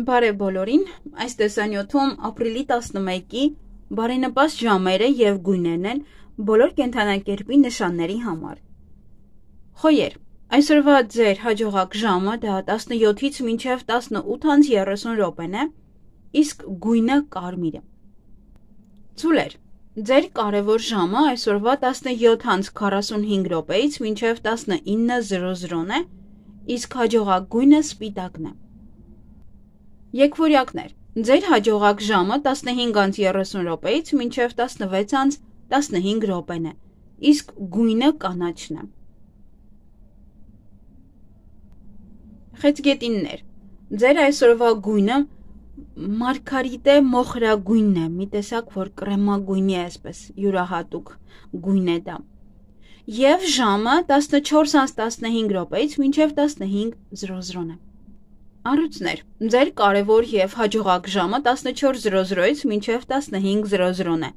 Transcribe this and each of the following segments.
Բարև բոլորին, այս տեսանյութում ապրիլի 11-ի բարենպաստ ժամերը և գույներն են բոլոր կենդանակերպի նշանների համար։ Խոյեր, այսօրվա ձեր հաջողակ ժամը դա 17-ից մինչև 18:30 է, իսկ գույնը կարմիր է։ Ծուլեր, ձեր կարևոր ժամը այսօրվա 17:45-ից մինչև 19:00 է, իսկ հաջողակ գույնը սպիտակն է։ Եկվորյակներ, ձեր հաջողակ ժամը 15:30-ից մինչև 16:15 է, իսկ գույնը կանաչն է։ Խեցգետիններ, ձեր այսօրվա գույնը մարգարիտե մոխրագույնն է, մի տեսակ, որ կրեմագույնի է, այսպես յուրահատուկ գույն է դա։ Եվ ժամը 14:15-ից մինչև 15:00 է։ Առույցներ, ձեր կարևոր և հաջողակ ժամը 14:00-ից մինչև 15:00 է,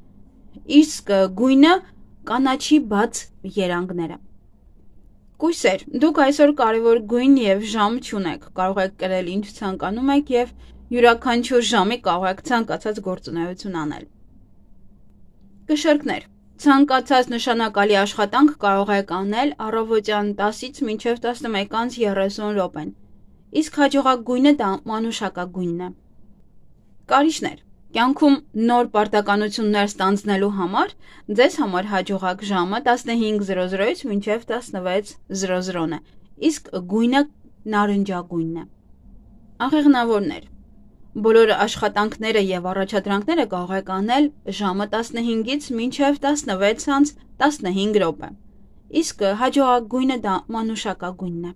իսկ գույնը կանաչի բաց երանգները։ Կույսեր, դուք այսօր կարևոր գույն և ժամ չունեք, կարող եք կրել ինչ ցանկանում եք և յուրաքանչյուր ժամի կարող եք ցանկացած գործունեություն անել։ Կշեռքներ, ցանկացած նշանակալի աշխատանք կարող եք անել առավոտյան 10-ից մինչև 11:30, իսկ հաջողակ գույնը դա մանուշակագույնն է։ Կարիճներ, կյանքում նոր պարտականություններ ստանձնելու համար ձեզ համար հաջողակ ժամը 15:00-ից մինչև 16:00 է, իսկ գույնը նարնջագույնն է։ Աղեղնավորներ, բոլոր աշխատանքները և առաջադրանքները կարող եք անել ժամը 15-ից մինչև 16:15, իսկ հաջողակ գույնը դա մանուշակագույնն է։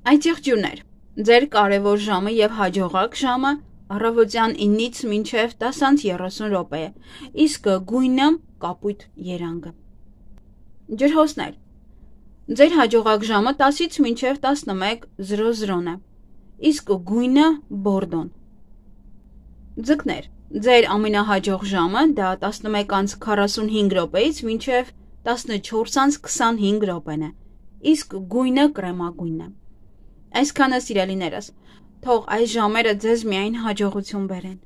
Այծեղջյուրներ, ձեր կարևոր ժամը և հաջողակ ժամը առավոտյան 9-ից մինչև 10:30 է, իսկ գույնը կապույտ երանգը։ Ջրհոսներ, ձեր հաջողակ ժամը 10-ից մինչև 11:00 է, իսկ գույնը բորդոն։ Ձկներ, ձեր ամենահաջող ժամը դա 11:45-ից մինչև 14:25 է, իսկ գույնը կրեմագույնն է։ Այսքանը սիրելիներս, թող այս ժամերը ձեզ միայն հաջողություն բերեն։